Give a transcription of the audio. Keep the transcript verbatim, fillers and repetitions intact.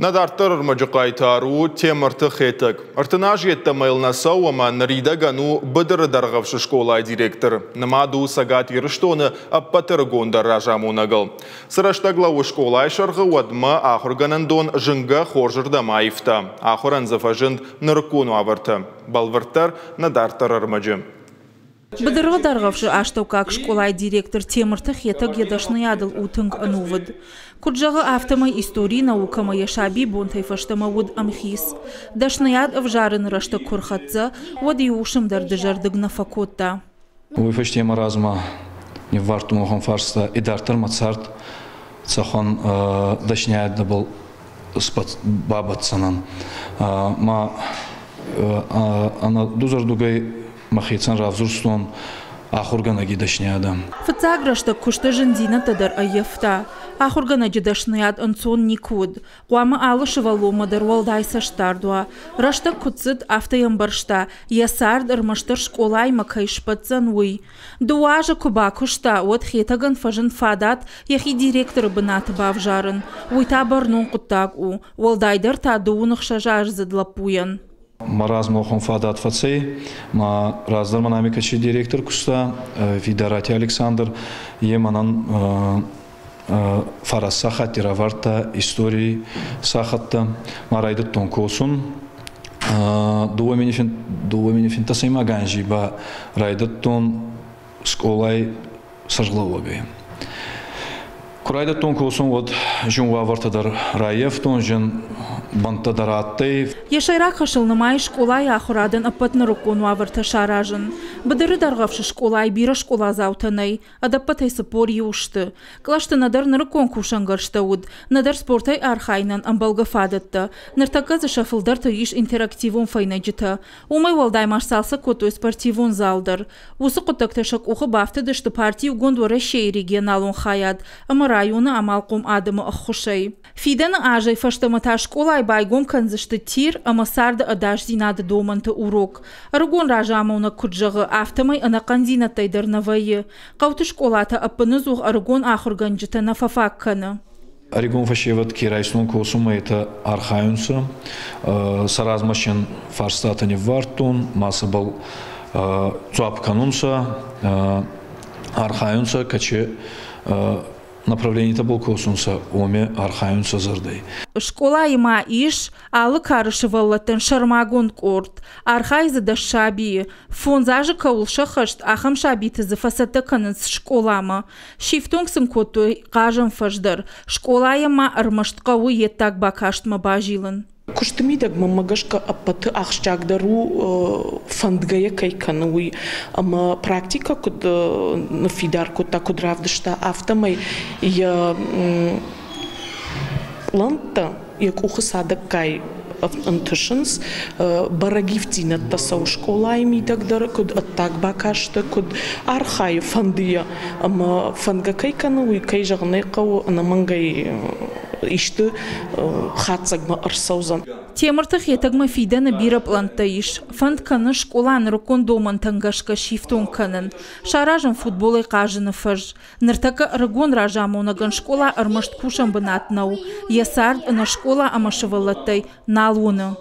Нӕ дарддӕр ӕрмӕджы хъайтар у Темырты Хетӕг. Ӕртын аз йеддӕмӕ йыл нӕ цӕуы ӕмӕ ныридӕгӕн у Быдыры Дӕргъӕвсы скъолайы директор. Нымад у Цӕгат Ирыстоны ӕппӕты ӕрыгондӕр разамонӕгыл. Цы рӕстӕг лӕууы скъолайы сӕргъы, уӕдмӕ ахуыргӕнӕндон зынгӕ хорзырдӕм аивта. Ахуырӕн дзы фӕзынд нырыккон уавӕртӕ. Бӕлвырддӕр нӕ дарддӕр ӕрмӕджы. Быдыры Дӕргъӕвсы астӕуккаг скъолайы директор Темырты Хетӕг йӕ дӕсныйадыл у тынг ӕнувыд. Куыд зӕгъы, афтӕмӕй историйы наукӕмӕ йӕ сабибонтӕй фӕстӕмӕ уыд ӕмхиц. Дӕсныйад ӕвзарыны рӕстӕг куы рхӕццӕ, уӕд иу уысм дӕр дызӕрдыг нӕ фӕкодта. Уый фӕсте мӕ размӕ ниввардтон уӕхӕн фарста, идарддӕр мӕ цард цӕхуӕн дӕсниадӕбӕл бабӕтдзӕнӕн. Ма ӕнӕ дузӕрдугӕй мӕхецӕн равзурстон ахуыргӕнӕги дӕсниадӕ. Фыццаг рӕстӕг куысты зындзинӕдтӕ дӕр ӕййӕфта. Ахуыргӕнӕджы дӕсныйад ӕнцон никуы уыд. Хъуамӕ алы сывӕллонмӕ дӕр уӕлдай цӕстдард уа. Рӕстӕг куыд цыд, афтӕ йӕ ӕмбӕрста, йӕ цард ӕрмӕстдӕр скъолаимӕ кӕй сбӕтдзӕн, уый. Дыууӕ азы куы бакуыста, уӕд Хетӕгӕн фӕзынд фадат йӕхи директоры бынаты бавзарын. Уый та бӕрнон хъуыддаг у, уӕлдайдӕр та дыууын ӕхсӕзаздзыд лӕппуйӕн. Мӕ размӕ уӕхӕн фадат фӕцӕй. Ма раздӕр мӕн ами кӕци директор куста, Фидарати Александр, е мӕнӕн фараст сахатти равардта историй сахаттӕ. Ма райдӕдтон косун. Дууӕ мини финддӕсӕймаг анзи ба райдӕдтон скъолай сӕргълӕууӕгӕй. Ку райдӕдтон косун, уӕд зин уавӕртӕ дӕр раййафтон, зин бӕнттӕ дӕр адтӕй. Йӕ сӕйраг хӕсыл нымайы скъолайы ахуырадӕн ӕппӕт нырыккон уавӕртӕ саразын. Быдыры Дӕргъӕвсы скъолайы бирӕ скъоладзаутӕ нӕй, ӕдӕппӕтӕй цыппор иу сты. Кълӕсты нӕдӕр нырыккон кусӕнгӕрзтӕ уыд, нӕдӕр спортӕй архайынӕн ӕмбӕлгӕ фадӕттӕ. Ныртӕккӕ дзы сӕ фылдӕрты ис интерактивон фӕйнӕджытӕ. Уымӕй уӕлдай ма сцалцӕг кодтой спортивон зал дӕр. Уыцы хъуыддӕгтӕ сӕ къухы бафтыдысты парти Иугонд Уӕрӕсейы регионалон хайад ӕмӕ районы амалхъом адӕмы ӕххуысӕй. Фидӕны азӕй фӕстӕмӕ та скъолайы байгом кӕндзысты тир ӕмӕ царды ӕдасдзинады домӕнты урок. Ӕрыгон разамонӕг куыд зӕгъы, афтӕмӕй ӕнӕхъӕндзинӕдтӕй дӕр нӕ вӕййы. Хъӕуты скъолатӕ ӕппыныдзух ӕрыгон ахуыргӕнджытӕ нӕ фӕфаг кӕны. Ӕрыгон фӕсевӕд ке райстон косунмӕ, етӕ архайунцӕ. Сӕ размӕ син фарстатӕ ниввардтон, ма сӕбӕл дзуапп кӕнунцӕ, архайунцӕ, кӕци направленийтӕбӕл косунцӕ, уоми архайунцӕ зӕрдӕй. Скъолайы ма ис алы кары сывӕллӕттӕн сӕрмагонд къорд. Архайы дзы дӕс сабийы. Фондз азы кӕуыл сӕххӕст, ахӕм сабиты дзы фӕцӕттӕ кӕнынц скъоламӕ. Сифтонг сын кодтой хъазӕн фӕз дӕр. Скъолайӕн ма ӕрмӕст хъӕуы йе ддаг бакастмӕ базилын. Куысты мидӕг мӕнмӕ гӕсгӕ ӕппӕты ахсджиагдӕр у фӕндгӕйӕ кӕй кӕны, уый. Ӕмӕ практикӕ куыд ныффидар кодта, куыд равдыста, афтӕмӕй йӕ пълӕнттӕ йӕ къухы цадӕггай ӕнтысынц, бӕрӕг ивддзинӕдтӕ цӕуы скъолайы мидӕг дӕр, куыд ӕддаг бакасты, куыд архайы фӕндыйӕ. Ӕмӕ фӕндгӕ кӕй кӕны, уый, кӕй зӕгъын ӕй хъӕуы, ӕнӕмӕнгӕй исты хатдзӕгмӕ ӕрцӕудзӕн. Темырты Хетӕгмӕ фидӕны бирӕ пълӕнттӕ ис. Фӕнд кӕны скъола нырыккон домӕнтӕм гӕсгӕ сифтонг кӕнын. Саразын футболӕй хъазыны фӕз. Ныртӕккӕ ӕрыгон разамонӕгӕн скъола ӕрмӕст кусӕн бынат нӕу. Йӕ цард ӕнӕ скъола ӕмӕ сывӕллӕттӕй нал уыны.